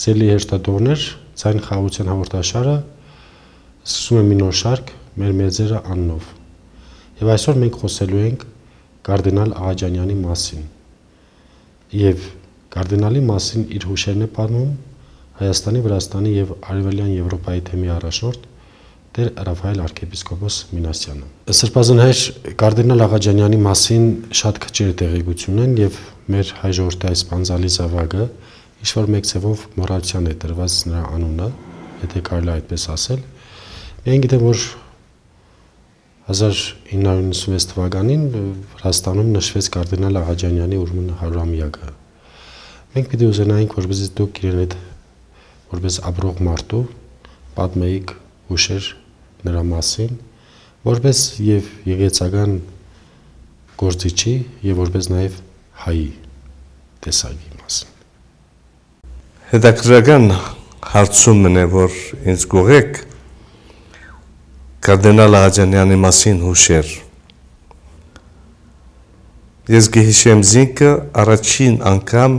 Սելի հեշտադողներ, ձայն խաղաղության հաղորդաշարը սկսում է մի նոր շարք մեր մեծերը աննով։ Եվ այսօր մենք խոսելու ենք կարդինալ Աղաջանյանի մասին։ Եվ կարդինալի մասին իր հուշերն է պատմում Հայաստանի, Վրաստանի եւ Արևելյան Եվրոպայի թեմի առաջնորդ Տեր Ռաֆայել arczepiskopos Մինասյանը։ Սրբազան հայր կարդինալ Աղաջանյանի մասին շատ քիչ տեղեկություն են եւ մեր հայ ժողովրդի այս բանձալի զավակը ինչ-որ մեկ ձևով մոռացության է տրված նրա անունը, եթե կարելի է այդպես ասել։ Մենք գիտեմ, որ 1996 թվականին Վրաստանում նշվեց կարդինալ Աղաջանյանի ուրեմն 100-ամյակը։ Մենք պիտի ուզենայինք, որպեսզի դուք իրեն հետ որպես ապրող մարդու պատմեիք հուշեր նրա մասին, որպես եւ եկեղեցական գործիչի եւ որպես նաեւ հայի տեսակի մասին։ Հետաքրքրական հարցումն է, որ ինձ գողեք կարդինալ Աղաջանյանի մասին հուշեր։ Ես գիհիշեմ զինքը առաջին անգամ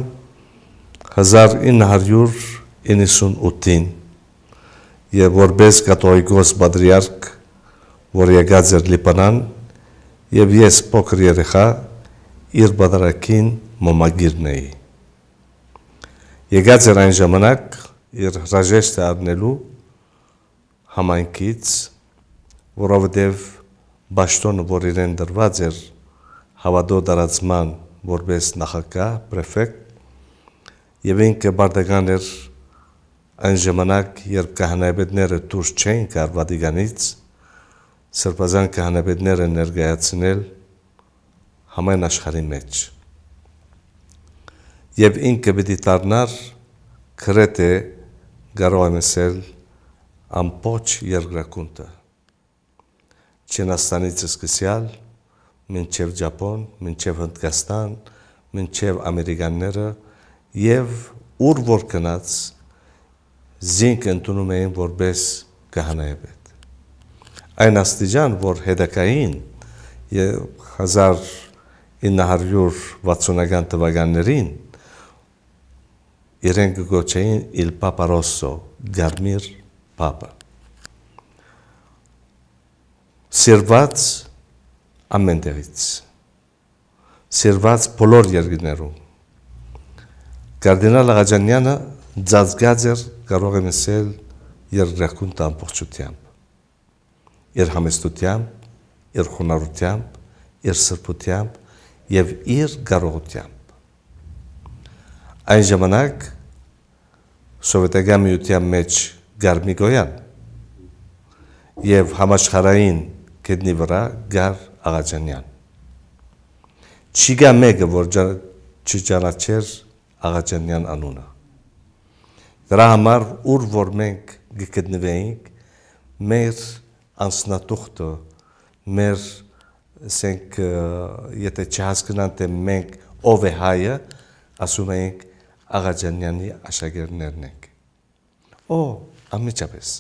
1998-ին եւ որպես կաթողիկոս պատրիարք, որ եկած էր Լիբանան, եւ ես փոքր երեխա իր բادرակին մոմագիրն էի։ Եկած էր այն ժամանակ իր հրաժեշտը առնելու համայնքից, որովհետև բաշտոնը, որ իրեն դրված էր հավատո տարածման որպես նախագահ, պրեֆեկտ, եւ ինքը բարդական էր այն ժամանակ, երբ քահանայապետները դուրս չէին գար Վատիկանից, սրբազան քահանայապետները ներկայացնել համայն աշխարհի մեջ։ Եվ ինքը պիտի դառնար գրեթե կարող եմ ասել ամբողջ երկրակունտը։ Չինաստանից սկսյալ, մինչև Ճապոն, մինչև Հնդկաստան, մինչև ամերիկանները եւ ուր որ գնաց զինք ընդունում էին որպես քահանայապետ։ Այն աստիճան, որ հետակային 1960-ական թվականներին իրենք գոչեին Il Papa Rosso, Գարմիր Պապը։ Սիրված ամեն տեղից, սիրված բոլոր երկրներում։ Կարդինալ Աղաջանյանը ծածկած էր, կարող եմ ասել, երկրակունտ ամբողջությամբ, իր համեստությամբ, իր խոնարհությամբ, իր սրբությամբ եւ իր կարողությամբ։ Այն ժամանակ Սովետական միության մեջ գար Միգոյան եւ համաշխարհային գետնի վրա գար Աղաջանյան։ Չկա մեկը, որ չճանաչեր Աղաջանյան անունը։ Դրա համար ուր որ մենք գտնվեինք, մեր անձնատուղթը, մեր ասենք եթե չհասկանան թե մենք ով է հայը, ասում ենք Աղաջանյանի աշակերտներն ենք։ Անմիջապես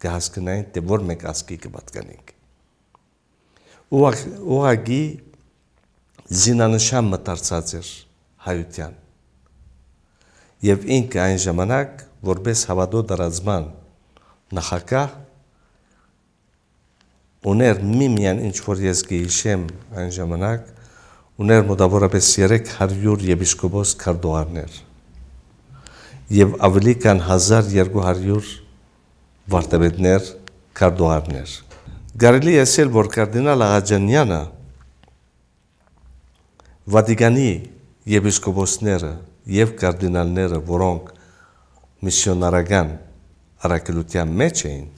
կհասկանային թե որ մենք ազգի կպատկանենք։ Ուղղակի զինանշան մտածած էր հայության։ Եվ ինքը այն ժամանակ որպես հավատո տարածման նախագահ ուներ միմյան ինչ որ ես գիշեմ այն ժամանակ ուներ մոտավորապես 300 եպիսկոպոս քարտուղարներ եւ ավելի քան 1200 վարդապետներ քարտուղարներ։ Կարելի է ասել, որ կարդինալ Աղաջանյանը Վատիկանի եպիսկոպոսները եւ կարդինալները, որոնք միսիոնարական առաքելության մեջ էին,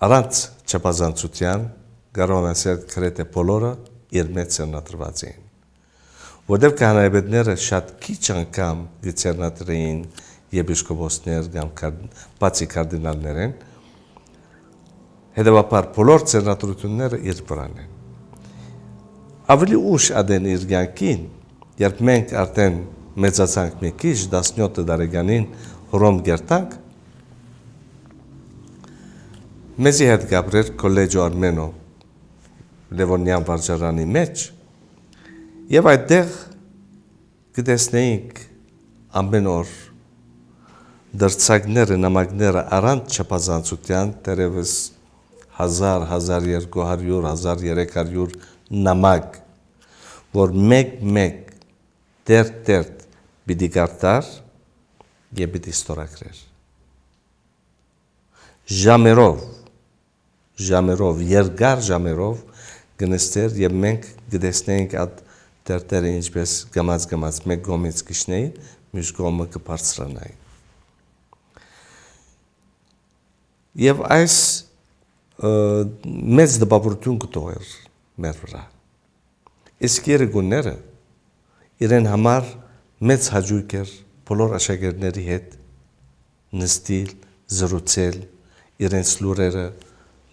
առանց չափազանցության կարող եմ ասել գրեթե բոլորը իր մեջ ցերնատրված էին։ Որտեղ քահանայապետները շատ քիչ անգամ գցերնատրեին եպիսկոպոսներ կամ բացի կարդինալներեն, հետևաբար բոլոր ցերնատրությունները իր վրան են։ Ավելի ուշ ադեն իր կյանքին, երբ մենք արդեն մեծացանք մի քիչ 17 տարեկանին Հռոմ գերտանք, մեզի հետ գաբրեր Collegio Armeno Լևոնյան վարչարանի մեջ եւ այդտեղ կտեսնեինք ամեն օր դրցակները, նամակները առանց չափազանցության դեռևս 1000, 1200, 1300 նամակ, որ մեկ դերտ պիտի կարտար և պիտի ստորագրեր։ Ժամերով, երկար ժամերով գնստեր և մենք գտեսնեինք այդ դերտերը ինչպես գմած մեկ կողմից կիջնեին, մյուս կողմը կբարձրանային։ Եվ այս մեծ տպավորություն կտողեր մեր վրա։ Իսկ երեգունները իրեն համար մեծ հաճույք էր բոլոր աշակերտների հետ նստել, զրուցել, իրենց լուրերը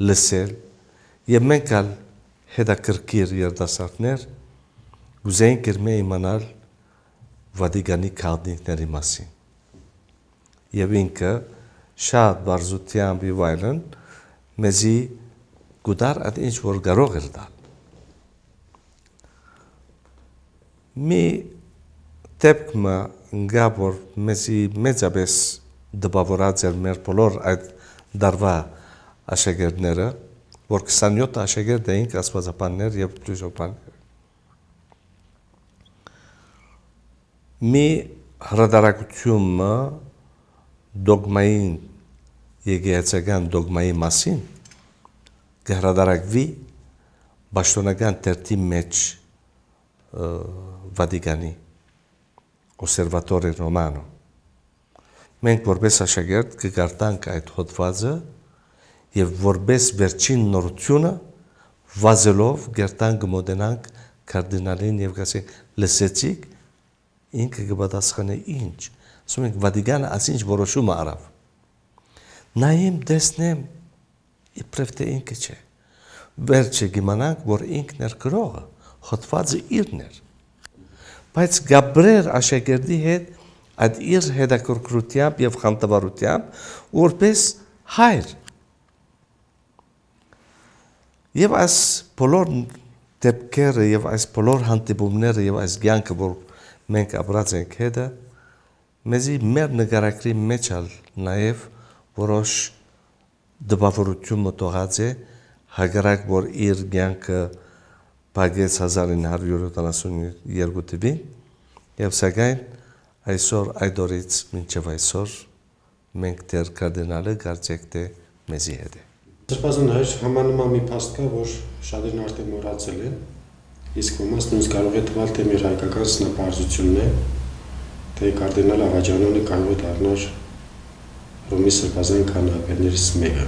լսել, և մենք ալ հետաքրքիր երիտասարդներ ուզեինք իրմե իմանալ Վատիկանի քաղաքների մասին։ Եվ ինքը շատ բարձրությամբ և այլն մեզի գուտար այդ ինչ որ կարող էր տալ։ Մի դեպքը ընկա, որ մեզի մեծապես դպավորած էր մեր բոլոր այդ դարվա աշակերտները, որ 27 աշակերտ էինք աստվածաբաններ և փիլիսոփաներ։ Մի հրատարակությունը դոգմային եկեղեցական դոգմայի մասին կհրատարակվի պաշտոնական թերթի մեջ Վատիկանի Օսերվատորի Ռոմանո։ Մենք որպես աշակերտ կկարտանք այդ հոդվածը և որպես վերջին նորությունը վազելով գերտան կմոտենանք կարդինալին և կասենք լսեցիք, ինքը կպատասխանե ինչ, ասում ենք Վատիկանը ասինչ որոշումը արավ։ Նայեմ, տեսնեմ, իբրև թե ինքը չէ։ Վերջը կիմանանք, որ ինքն էր գրողը, հոդվածը իրն էր։ Բայց գաբրեր աշակերտի հետ այդ իր հետաքրքրությամբ և խանդավառությամբ որպես հայր։ Եվ այս բոլոր դեպքերը և այս բոլոր հանդիպումները և այս կյանքը, որ մենք ապրած ենք հետը, մեզի մեր նկարագրի մեջ նաև որոշ դպավորություն մտողած է, հակառակ որ իր կյանքը փակեց 1972 թվին, և սակայն այսօր այդ օրից մինչև այսօր մենք դեռ կարդինալը կարծեք թե մեզի հետ է։ Սրբազան հայր, համանման մի փաստ կա, որ շատերն արդեն մոռացել են, իսկ ոմանց նույնիսկ կարող է թվալ, թե մեր հայկական սնապարզությունն է, թե կարդինալ Աղաջանյանը կարող է դառնալ Հռոմի սրբազան քահանայներից մեկը։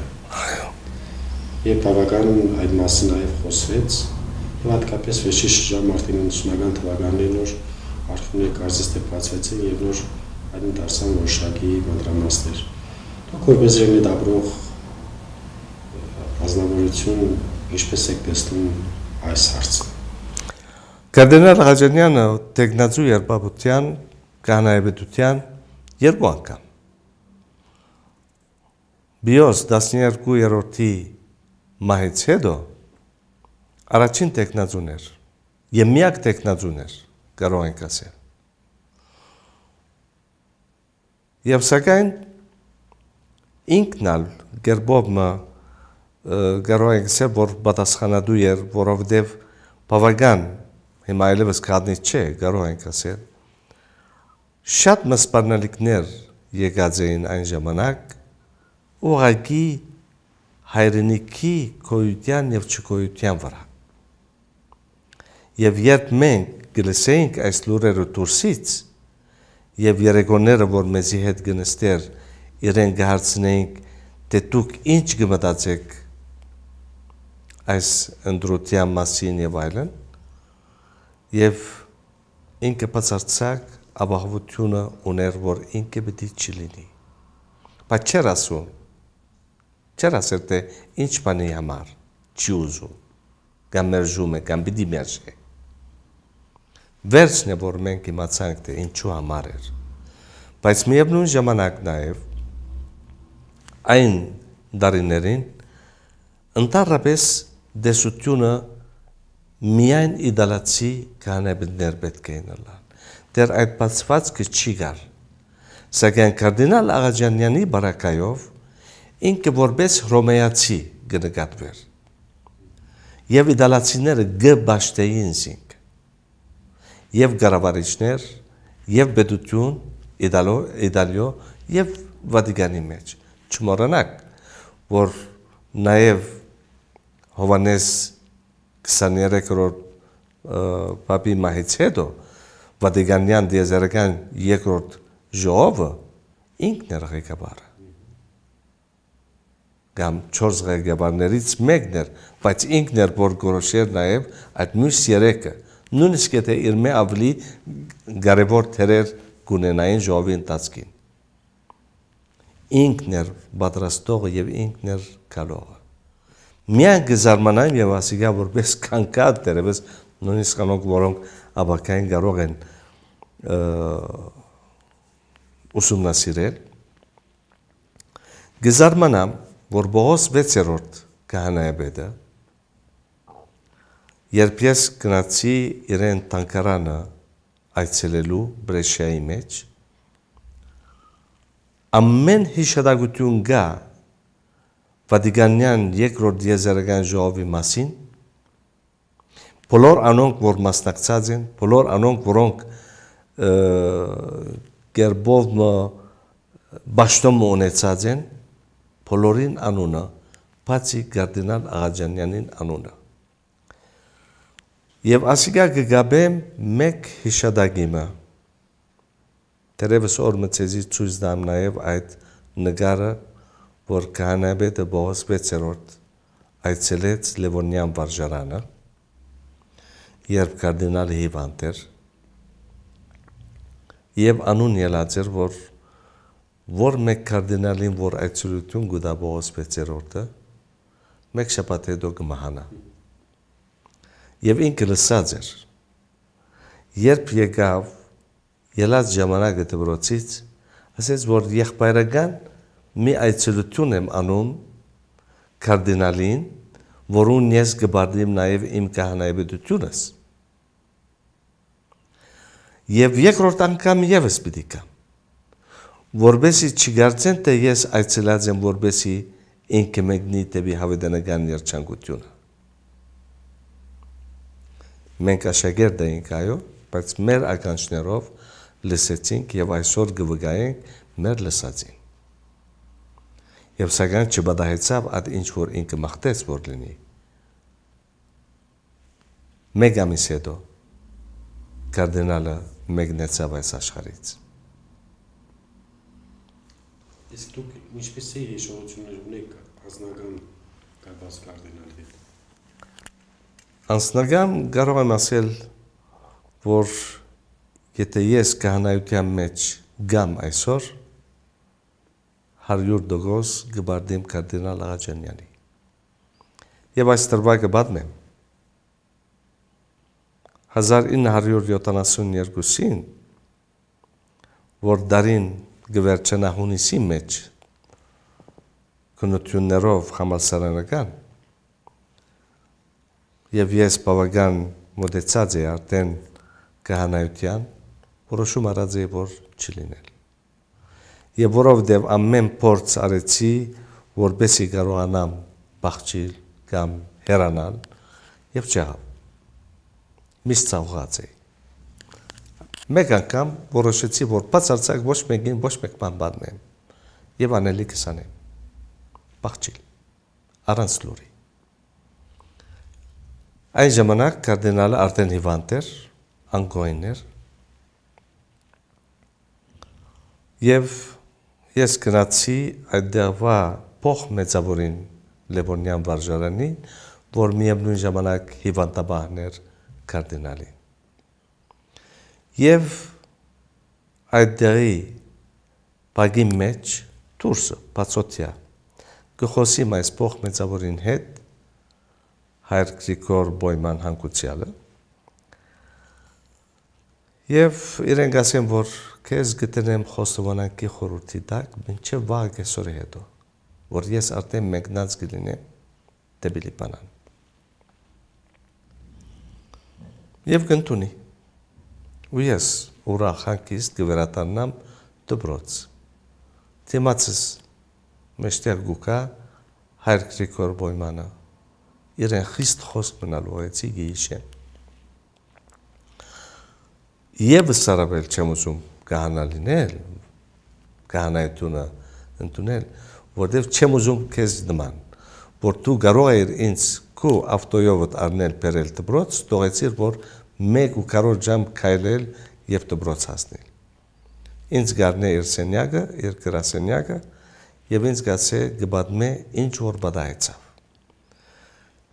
Եվ բավական այդ մասին նաև խոսվեց, և հատկապես վերջի շրջան Մարտին 90-ական թվականներին նոր արխիվներ կարծես թե բացվեցին և նոր այն դարձան որոշակի մանրամասներ։ Դուք որպես ռեգնետ ապրող ազնվորություն ինչպես եք տեսնում այս հարցը։ Կարդինալ Աղաջանյանը տեխնացու երբաբության, քահանայապետության երկու անգամ։ Բիոս 12-րդի մահից հետո առաջին տեխնացուն էր և միակ տեխնացուն էր, կարող ենք ասել։ Եվ սակայն ինքն ալ գերբով կարող ենք ասել, որ պատասխանատու էր, որովհետև բավական հիմա այլևս քահանա չէ, կարող ենք ասել, շատ սպառնալիքներ եկած էին այն ժամանակ, ուղղակի հայրենիքի գոյության և չգոյության վրա։ Եվ երբ մենք կլսեինք այս լուրերը դուրսից, և երեկոները, որ մեզի հետ կնստեր, իրեն կհարցնեինք, թե դուք ինչ կմտածեք այս ընտրության մասին և այլն, և ինքը բացարձակ ապահովությունը ուներ, որ ինքը պետք է չլինի։ Բայց չէր ասում, չէր ասել, թե ինչ բանի համար չի ուզում, կամ մերժում է, կամ պիտի մերժի։ Վերջն է, որ մենք իմացանք, թե ինչու համար էր։ Բայց միևնույն ժամանակ նաև այն դարիներին ընդհանրապես դեսությունը միայն իդալացի քահանայապետներ պետք էին ըլլան։ Դեռ այդ բացվածքը չի գար։ Սակայն կարդինալ Աղաջանյանի բարակայով ինքը որպես հռոմեացի կնկատվեր եւ իտալացիները գբաշտեին զինք եւ գարավարիչներ եւ պետություն Իտալիո եւ Վատիկանի մեջ չմոռանաք որ նաեւ Հովանես 23-րդ Պապի մահից հետո Վատիկանյան դիեզերական երկրորդ ժողովը ինքն էր ղեկավարը կամ 4 ղեկավարներից մեկն էր բայց ինքն էր որ գորոշեր նաեւ այդ մյուս երեքը նույնիսկ եթե իր մե ավելի կարևոր թերեր գունենային ժողովի ընթացքին ինքն էր պատրաստողը եւ ինքն էր գալողը միան գզարմանային եւ ասիգա որպես կանկատ դերևս նույնիսկ անոնք որոնք աբակային կարող են ուսումնասիրել գզարմանամ որ Բողոս 6-րդ քահանայապետը երբ ես գնացի իրեն տանկարանը այցելելու Բրեշիայի մեջ ամեն հիշադակություն գա Վատիկանյան երկրորդ դիեզերական ժողովի մասին բոլոր անոնք որ մասնակցած են բոլոր անոնք որոնք գերբով բաշտոմ ունեցած են բոլորին անունը բացի կարդինալ Աղաջանյանին անունը եւ ասիկա կգաբեմ մեկ հիշադակիմը Դերևս օր մցեզի ցույց դամ նաեւ այդ նկարը որ քահանայապետը Բողոս 6-րդ այցելեց Լևոնյան վարժարանը երբ կարդինալը հիվանդ էր եւ անուն ելած էր որ մեկ կարդինալին որ այցելություն գուտա Բողոս 6-րդը մեկ շաբաթ հետո կմահանա եւ ինքը լսած էր երբ եկավ ելած ժամանակը դպրոցից ասեց որ եղբայրական մի այցելություն եմ անում կարդինալին որուն ես կբարդեմ նաև իմ քահանայապետությունս եւ երկրորդ անգամ եւս պիտի կամ որբեսի չգարցեն թե ես այցելած եմ որբեսի ինքը մեկնի դեպի հավիտենական երջանկությունը մենք աշակերտ էինք այո բայց մեր ականջներով լսեցինք եւ այսօր կվգայենք մեր լսածին եւ սակայն չբադահեցավ այդ ինչ որ ինքը մաղթեց որ լինի մեկ ամիս հետո կարդինալը մեկնեցավ այս աշխարհից Իսկ դուք ինչպեսի հիշողություններ ունեք անձնական կապված կարդինալի հետ Անձնական կարող եմ ասել որ եթե ես քահանայության մեջ գամ այսօր 100% կբարդեմ կարդինալ Աղաջանյանի եւ այս տրվակը պատմեմ 1972-ին որ դարին գվերջանա հունիսի մեջ քննություններով համալսարանական եւ ես բավական մոտեցած էի արդեն քահանայության որոշում արած էի որ չլինել եւ որովհետեւ ամեն փորձ արեցի որպեսի կարողանամ բախչիլ կամ հեռանալ եւ չեղավ միշտ ցավված էի մեկ անգամ որոշեցի որ բացարձակ ոչ մեկին ոչ մեկ բան բանեմ եւ անելիքս անեմ բախչիլ առանց լուրի Այն ժամանակ կարդինալը արդեն հիվանդ էր, անկոյն էր եւ ես գնացի այդտեղվա փոխ մեծավորին Լևոնյան վարժարանին, որ միևնույն ժամանակ հիվանդաբան էր կարդինալին։ Եվ այդտեղի բագի մեջ դուրսը բացօթյա կխոսիմ այս փոխ մեծավորին հետ Հայր Գրիգոր Բոյման հանգուցյալը եւ իրենք ասեն որ քեզ գտնեմ խոստովանակի խորհրդի տակ մինչեւ վաղ կեսօրի հետո որ ես արդեն մեկնած կլինեմ դեպի Լիբանան եւ կընտունի ու ես ուրախ հանգիստ կվերադառնամ դբրոց։ Թիմացս մեջտեղ գուկա Հայր Գրիգոր Բոյմանը իրեն խիստ խոսք մնալու էցի գիիշեն։ Եվս սարաբել չեմ ուզում կահանա լինել, կահանայությունը ընդունել, որտև չեմ ուզում քեզ նման, որ դու կարող ես ինձ քո ավտոյովդ առնել բերել դբրոց, թողեցիր որ 1:4 ժամ քայլել եւ դբրոց հասնել։ Ինձ գարնե իր սենյակը, իր գրասենյակը եւ ինձ գացե գբադմե ինչ որ բադայեցավ։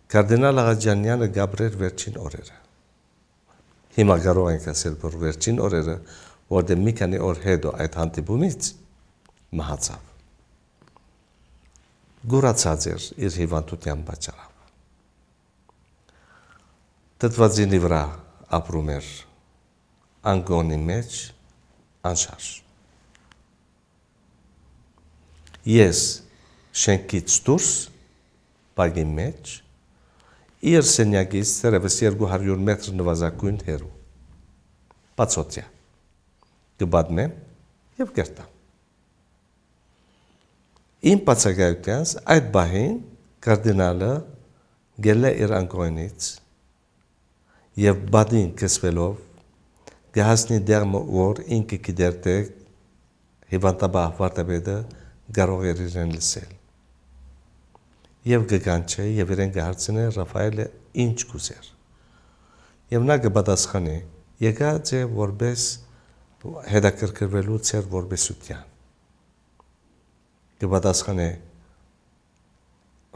Կարդինալ Աղաջանյանը գաբրեր վերջին օրերը։ Հիմա կարող ենք ասել, որ վերջին օրերը, որտեղ մի քանի օր հետո այդ հանդիպումից մահացավ։ Գուրացած էր իր հիվանդության պատճառով։ Դդվածինի վրա ապրում էր անգոնի մեջ անշարժ։ Ես շենքից դուրս բագի մեջ իր սենյակից թերևս 200 մետր նվազագույն հեռու։ Բացօթյա։ Գբադմեմ եւ կերտամ։ Իմ բացակայությանս այդ բահին կարդինալը գելե իր անկոյնից եւ բադին կսվելով գահասնի դերմը որ ինքը գիտեր թե հիվանդաբահ վարտաբեդը կարող էր իրեն լսել։ Եվ գգանչե եւ իրեն գահարցնե Ռաֆայելը ինչ կուզեր։ Եվ նա կպատասխանի եկած է որպես հետաքրքրվելու ծեր որբեսության։ Կպատասխանի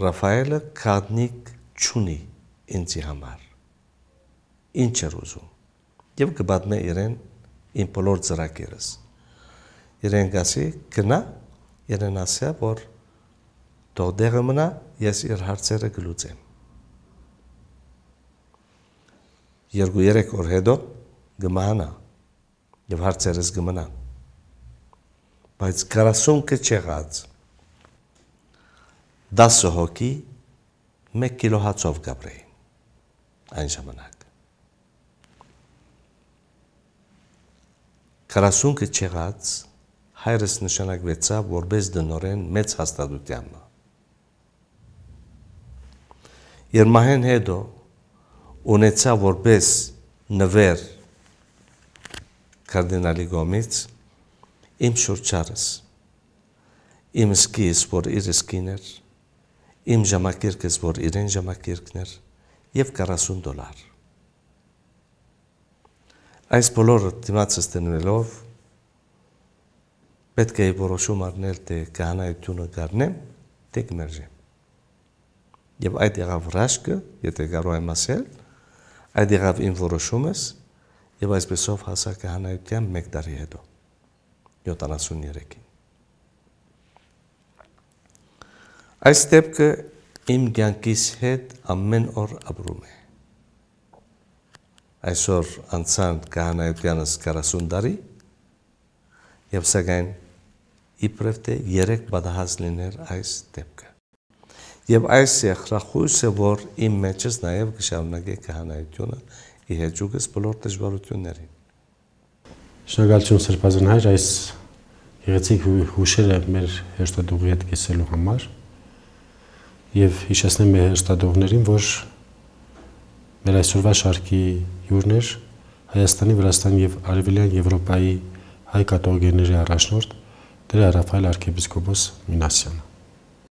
Ռաֆայելը քադնիկ չունի ինձի համար։ Ինչ էր ուզում։ Եվ կպատմե իրեն իմ բոլոր ծրագիրս։ Իրեն գասի գնա, իրեն ասա որ թող դեղը մնա, ես իր հարցերը կլուծեմ։ 2-3 օր հետո գմահանա եւ հարցերս գմնան։ Բայց 40 կչեղած 10 հոգի 1 կիլո հացով գաբրեին այն ժամանակ։ 40 կչեղած հայրս նշանակվեցավ որպես դնորեն մեծ հաստատությամբ։ Երմահեն հետո ունեցա որպես նվեր կարդինալի գոմից իմ շուրջարս, իմ սկիս, որ իր սկին էր, իմ ժամակիրկս, որ իրեն ժամակիրկն էր և $40։ Այս բոլորը դիմացս տնվելով պետք է որոշում առնել թե կահանայությունը գարնեմ, թե կմերժեմ։ Եվ այդ եղավ ռաշկը, եթե կարող եմ ասել, այդ եղավ իմ որոշումս եւ այսպեսով հասա կահանայության 1 տարի հետո 73-ին։ Այս դեպքը իմ կյանքիս հետ ամեն օր ապրում է։ Այսօր անցան կահանայությանս 40 տարի եւ սակայն իբրև թե 3 պատահած լիներ այս դեպքը։ Եվ այս եղրախույսը, որ իմ մեջս նաև կշարունակե կահանայությունը ի հեճուկս բոլոր դժվարություններին։ Շնորհակալություն Սրբազան հայր այս գեղեցիկ հուշերը մեր հերթադուղի հետ կիսելու համար եւ հիշեցնեմ մեր հերթադուղներին, որ մեր այսօրվա շարքի հյուրն էր Հայաստանի, Վրաստանի եւ Արևելյան Եվրոպայի հայ կաթողիկոսների առաջնորդ Տեր Ռաֆայել arczepiskopos Minasyan.